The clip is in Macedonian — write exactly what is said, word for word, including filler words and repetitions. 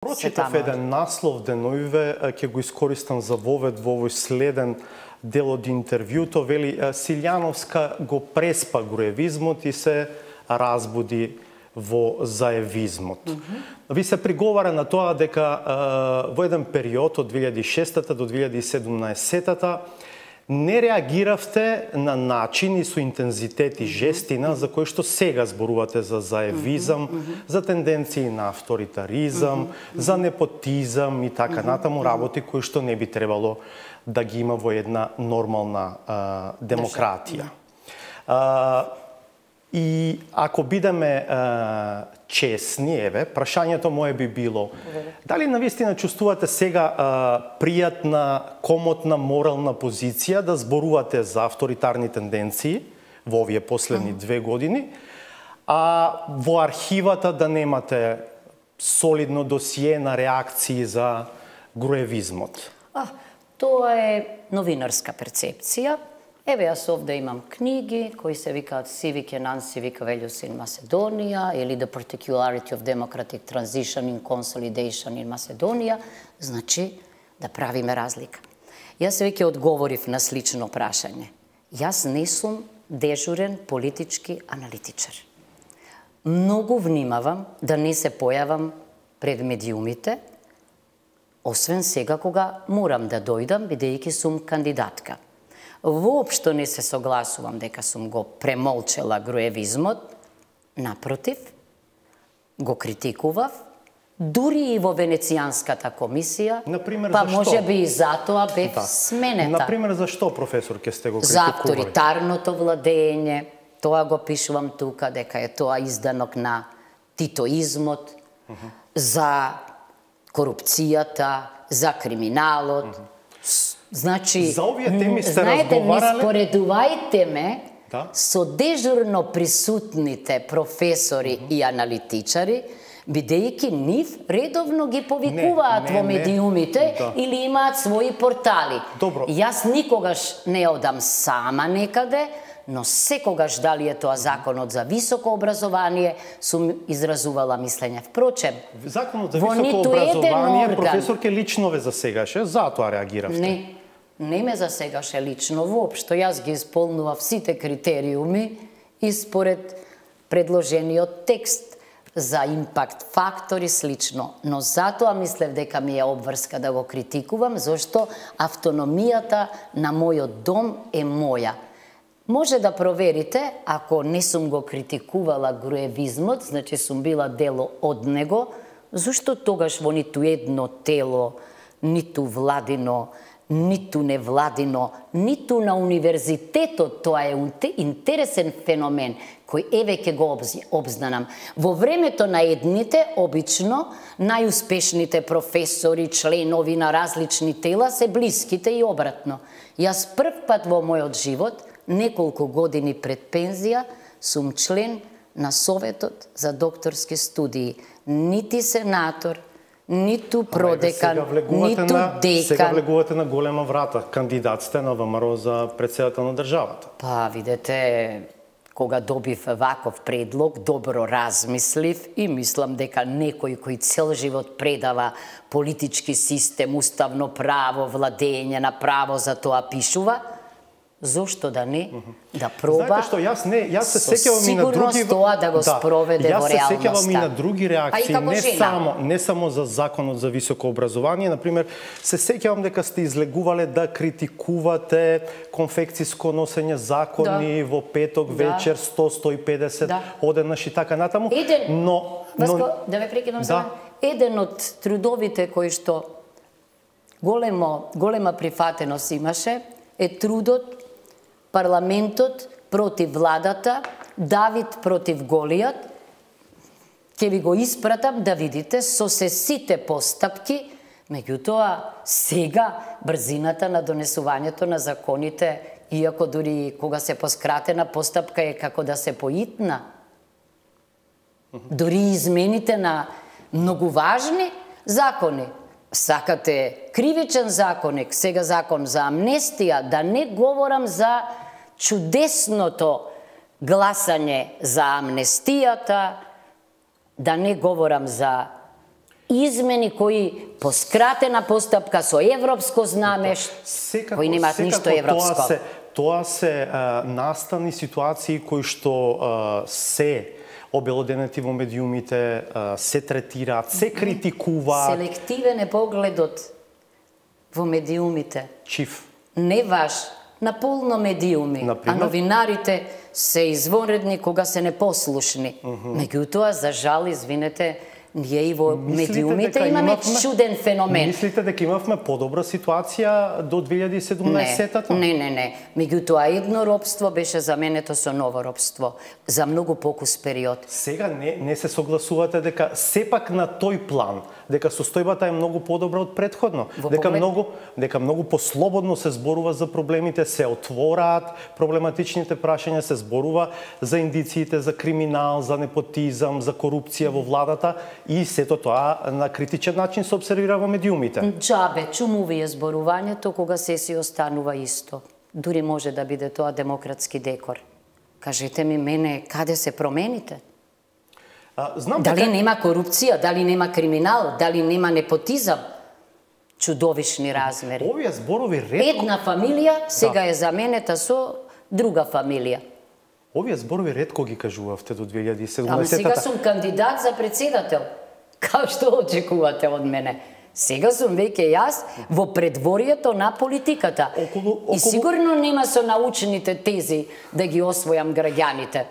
Прочитав еден наслов деноиве, ќе го искористам за вовед во овој следен дел од интервјуто, вели Силјановска го преспа груевизмот и се разбуди во заевизмот. Mm -hmm. Ви се приговара на тоа дека во еден период од две илјади и шеста до две илјади и седумнаесета не реагиравте на начин и со интензитет и жестина за кој што сега зборувате за заевизам, mm -hmm. за тенденции на авторитаризам, mm -hmm. за непотизам и така натаму, работи кои што не би требало да ги има во една нормална а, демократија. А, и ако бидеме а, честни, еве, прашањето мое би било, дали навистина чувствувате сега а, пријатна, комотна, морална позиција да зборувате за авторитарни тенденции во овие последни две години, а во архивата да немате солидно досие на реакции за груевизмот? А, тоа е новинарска перцепција. Еве, јас овде имам книги кои се викаат Civic and Non-Civic Values in Macedonia или The Particularity of Democratic Transition in Consolidation in Macedonia. Значи, да правиме разлика. Јас веќе одговорив на слично прашање. Јас не сум дежурен политички аналитичар. Многу внимавам да не се појавам пред медиумите, освен сега кога морам да дојдам, бидејќи сум кандидатка. Воопшто не се согласувам дека сум го премолчела груевизмот, напротив, го критикував, дури и во Венецијанската комисија, Например, па зашто? може би и затоа бев Да. сменета. Например, зашто, професор, ке сте го За критикували? авторитарното владење, тоа го пишувам тука, дека е тоа изданок на титоизмот, uh -huh. за корупцијата, за криминалот. Uh -huh. Значи, за овие теми сте знаете, разговарале? не споредувајте ме Да? со дежурно присутните професори uh -huh. и аналитичари, бидејќи нив редовно ги повикуваат не, не, во медиумите да. или имаат своји портали. Добро. Јас никогаш не одам сама некаде, но секогаш дали е тоа законот за високо образование, сум изразувала мислење. Впрочем, Законот за во високо ниту еден образование, орган- професорке, лично ве засегаше, затоа реагиравте. Не, не ме засегаше лично воопшто. Јас ги исполнував сите критериуми и според предложениот текст за импакт фактор и слично. Но затоа мислев дека ми е обврска да го критикувам, зашто автономијата на мојот дом е моја. Може да проверите, ако не сум го критикувала груевизмот, значи сум била дело од него, зашто тогаш во ниту едно тело, ниту владино, ниту невладино, ниту на универзитетот, тоа е интересен феномен, кој еве ќе го обзнанам. Во времето на едните, обично, најуспешните професори, членови на различни тела се блиските и обратно. Јас прв пат во мојот живот, неколку години пред пензија, сум член на Советот за докторски студии. Нити сенатор, ниту продекан, ниту на, декан. Сега влегувате на голема врата. Кандидат сте на ВМРО за председател на државата. Па, видете, кога добив ваков предлог, добро размислив и мислам дека некој кој цел живот предава политички систем, уставно право, владење на право за тоа пишува, зошто да не, да проба. Знаете што, јас не, јас се сеќавам и на други тоа да го спроведе да, во реалноста. Јас се сеќавам и на други реакции, не жена. само не само за законот за високо образование, например, се сеќавам дека сте излегувале да критикувате конфекциско носење закони да. во петок да. вечер сто до сто и педесет да. одеднаш и така натаму. Еден, но, Васко, но да ве прекинам да. само. Еден од трудовите кои што големо голема прифатеност имаше е трудот парламентот против владата, Давид против Голијат. Ќе ви го испратам да видите со се сите постапки, меѓутоа сега брзината на донесувањето на законите, иако дури кога се поскратена постапка е како да се поитна. Дури измените на многу важни закони. Сакате кривичен законник, сега закон за амнестија, да не говорам за чудесното гласање за амнестијата, да не говорам за измени кои по скратена постапка со европско знаме, секако, кои немаат ништо европско. Тоа се, тоа се а, настани ситуации кои што а, се обелоденети во медиумите, а, се третираат, се критикуваат. Селективен е погледот во медиумите. Чиф. Не ваш, наполно медиуми, Например? а новинарите се извонредни кога се непослушни. Mm -hmm. Меѓутоа, за жал, извинете, ние и во Мислите медиумите дека имаме имавме- чуден феномен. Мислите дека имавме подобра ситуација до две илјади и седумнаесетта? Не, не, не. Меѓутоа, едно робство беше заменето со ново робство за многу покус период. Сега не, не се согласувате дека сепак на тој план, дека состојбата е многу подобра од претходно, Во дека поглед- многу дека многу послободно се зборува за проблемите, се отвораат проблематичните прашања, се зборува за индициите за криминал, за непотизам, за корупција во владата и сето тоа на критичен начин се обсервира во медиумите. Джабе, чумуви е зборувањето кога се си останува исто. Дури може да биде тоа демократски декор. Кажете ми мене, каде се промените? А, знам Дали дека нема корупција, дали нема криминал, дали нема непотизам? Чудовишни размери. овие зборови ретко Една фамилија сега е заменета со друга фамилија. овие зборови ретко ги кажувавте до две илјади и Ама сега седумнаесетта. сум кандидат за председател. Као што очекувате од мене? Сега сум веќе јас во предворието на политиката. Околу- И околу- сигурно нема со научните тези да ги освојам граѓаните.